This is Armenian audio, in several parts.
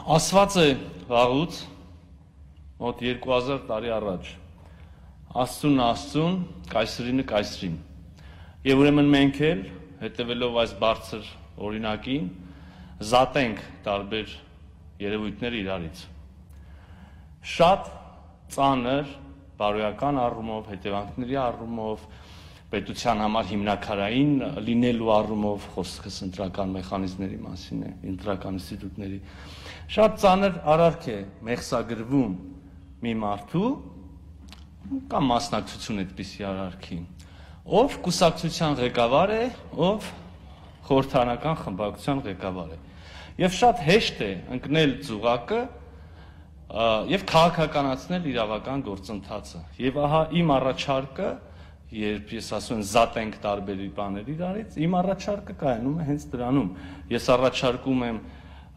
Ասված է վաղուց, մոտ 2000 տարի առաջ, Աստծուն Աստծուն, կայսրինը կայսրին։ Եվ ուրեմն մենք էլ, հետևելով այս բարձր օրինակին, զատենք տարբեր երևույթներ իրարից։ Շատ ծանր, բարոյական առումով, հետևանքների առումով, պետության համար հիմնակարային լինելու առումով, խոսքս ընտրական մեխանիզմների մասին է, ընտրական ինստիտուտների, շատ ծանր արարք է մեղսագրվում մի մարդու կամ մասնակցություն այդպիսի արարքի, ով կուսակցության ղեկավար է, ով խորհրդարանական խմբակցության ղեկավար է։ Եվ շատ հեշտ է ընկնել ծուղակը եւ քաղաքականացնել իրավական գործընթացը։ Եւ ահա իմ առաջարկը, երբ ես ասում եմ զատենք տարբեր բաներ իրարից, իմ առաջարկը կայանում է հենց դրանում։ Ես առաջարկում եմ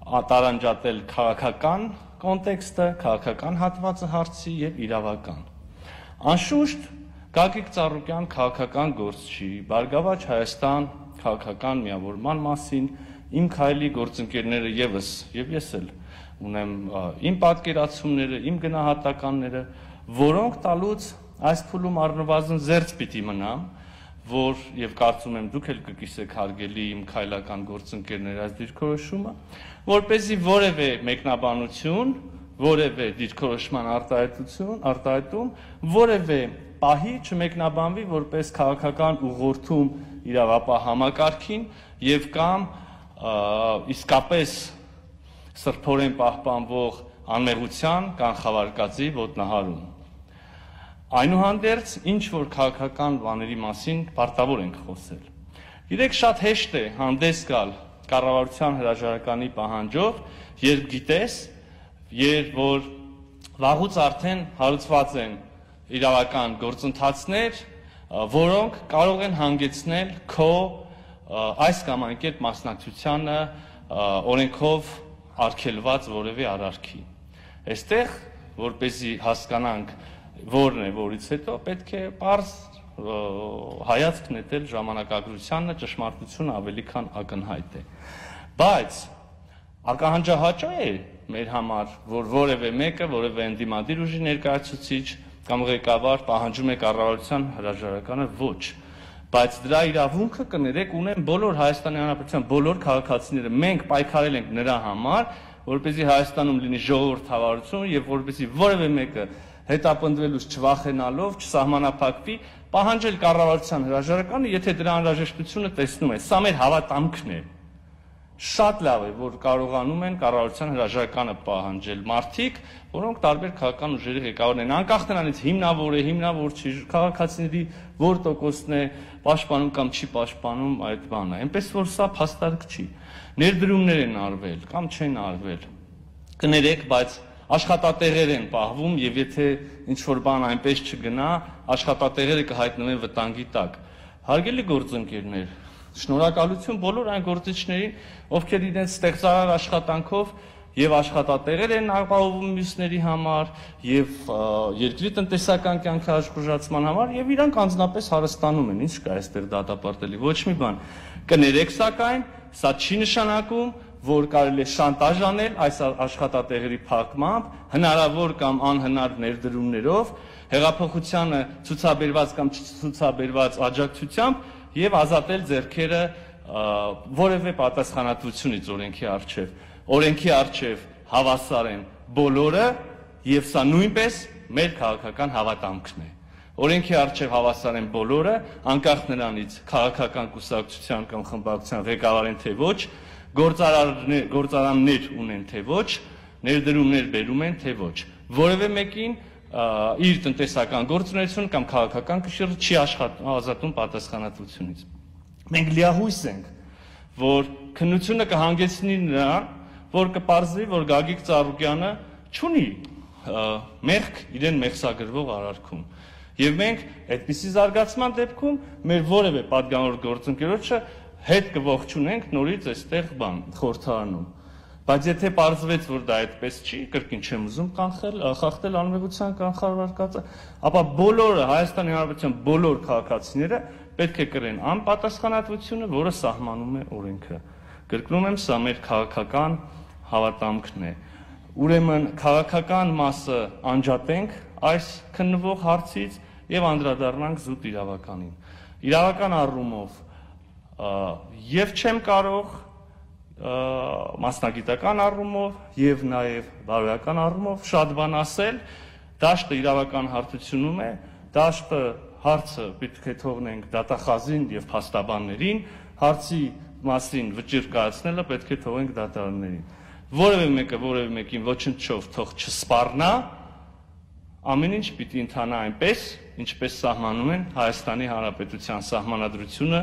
տարանջատել քաղաքական կոնտեքստը, քաղաքական հատվածը հարցի եւ իրավական։ Անշուշտ Գագիկ Ծառուկյան քաղաքական գործչի, Բարգավաճ Հայաստան քաղաքական միավորման մասին իմ քայլի գործընկերները եւս եւ ես էլ ունեմ իմ պատկերացումները, իմ գնահատականները, որոնք տալուց այս փուլում առնվազն զերծ պիտի մնամ, որ եւ կարծում եմ դուք էլ կկիսեք հարգելի իմ քայլական գործընկերներ այս դիրքորոշումը, որպեսզի որևէ մեկնաբանություն, որևէ դիրքորոշման արտահայտում, որևէ պահի չմեկնաբանվի որպես քաղաքական ուղղորդում իրավապահ համակարգին եւ կամ իսկապես սրբորեն պահպանվող անմեղության կանխավարկածի ոտնահարում։ Այնուհանդերձ, ինչ որ քաղաքական բաների մասին պարտավոր ենք խոսել։ Գիտեք, շատ հեշտ է հանդես գալ կառավարության հրաժարականի պահանջով, երբ գիտես, որ վաղուց արդեն հարուցված են իրավական գործընթացներ, որոնք կարող են հանգեցնել քո այս կամ այն կերպ մասնակցությանը օրենքով արգելված որևէ արարքի։ Այստեղ, որպեսզի հասկանանք որն է, որից հետո պետք է պարզ հայացք նետել ժամանակագրությանը, ճշմարտությունը ավելի քան ակնհայտ է։ Բայց ակահանջահաճո է մեր համար, որ որևէ մեկը, որևէ ընդդիմադիր ուժի ներկայացուցիչ կամ ղեկավար պահանջում է կառավարության հրաժարականը, ոչ։ Բայց դրա իրավունքը կներեք ունեն բոլոր Հայաստանի Հանրապետության բոլոր քաղաքացիները։ Մենք պայքարել ենք նրա համար, որպեսզի Հայաստանում լինի ժողովրդավարություն եւ որպեսզի որևէ մեկը հետապնդվելուց չվախենալով, չսահմանափակվի, պահանջել կառավարության հրաժարականը, եթե դրա անհրաժեշտությունը տեսնում է։ Սա մեր հավատամքն է։ Շատ լավ է, որ կարողանում են կառավարության հրաժարականը պահանջել մարդիկ, որոնք տարբեր քաղաքական ուժերի ղեկավարներ են, անկախ նրանից հիմնավոր է, հիմնավոր չի, քաղաքացիների որ տոկոսն է պաշտպանում կամ չի պաշտպանում այդ բանը։ Այնպես որ սա փաստարկ չի։ Ներդրումներ են արվել կամ չեն արվել։ Կներեք, բայց աշխատատեղեր են պահվում եւ եթե ինչ-որ բան այնպես չգնա, աշխատատեղերը կհայտնվեն վտանգի տակ։ Հարգելի գործընկերներ, շնորհակալություն բոլոր այն գործիչներին, ովքեր իրենց ստեղծարար աշխատանքով եւ աշխատատեղեր են ապահովում մյուսների համար եւ երկրի տնտեսական կյանքի աշխուժացման համար եւ իրանք անձնապես հարստանում են։ Ինչ կա այստեղ դատապարտելի, ոչ մի բան։ Կներեք, սակայն սա չի նշանակում, որ կարելի է շանտաժ անել այս աշխատատեղերի փակմամբ, հնարավոր կամ անհնար ներդրումներով, հեղափոխությանը ցուցաբերված կամ չցուցաբերված աջակցությամբ եւ ազատել ձեռքերը որևէ պատասխանատվությունից օրենքի առջև։ Օրենքի առջև հավասար են բոլորը եւ սա նույնպես մեր քաղաքական հավատամքն է։ Օրենքի առջև հավասար են բոլորը, անկախ նրանից քաղաքական կուսակցության կամ խմբակցության ղեկավար են թե ոչ, գործարաններ ունեն թե ոչ, ներդրումներ բերում են թե ոչ։ Որևէ մեկին իր տնտեսական գործունեություն կամ քաղաքական կշիռը չի ազատում պատասխանատվությունից։ Մենք լիահույս ենք, որ քննությունը կհանգեցնի նրան, որ կպարզվի, որ Գագիկ Ծառուկյանը չունի մեղք իրեն մեղսագրվող արարքում։ Եվ մենք այդպիսի զարգացման դեպքում մեր որևէ պատգամավոր գործընկերոջը հետ կողջունենք նորից այստեղ խորհրդարանում։ Բայց եթե պարզվեց, որ դա այդպես չի, կրկին չեմ ուզում խախտել անմեղության կանխավարկածը, ապա բոլորը Հայաստանի Հանրապետության բոլոր քաղաքացիները պետք է կրեն անպատասխանատվությունը, որը սահմանում է օրենքը։ Կրկնում եմ, սա մեր քաղաքական հավատամքն է։ Ուրեմն քաղաքական մասը անջատենք այս քննվող հարցից եւ անդրադառնանք զուտ իրավականին։ Իրավական առումով եւ չեմ կարող մասնագիտական առումով եւ նաեւ բարոյական առումով շատ բան ասել, դաշտը իրավական հարթությունում է, դաշտը հարցը պետք է թողնենք դատախազին եւ փաստաբաններին, հարցի մասին վճիռ կայացնելը պետք է թողենք դատարաններին։ Որևէ մեկը որևէ մեկին ոչնչով թող չսպառնա, ամեն ինչ պիտի ընթանա այնպես, ինչպես սահմանում են Հայաստանի Հանրապետության սահմանադրությունը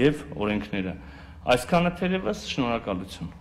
եւ օրենքները։ Այսքանը թերևս, շնորհակալություն։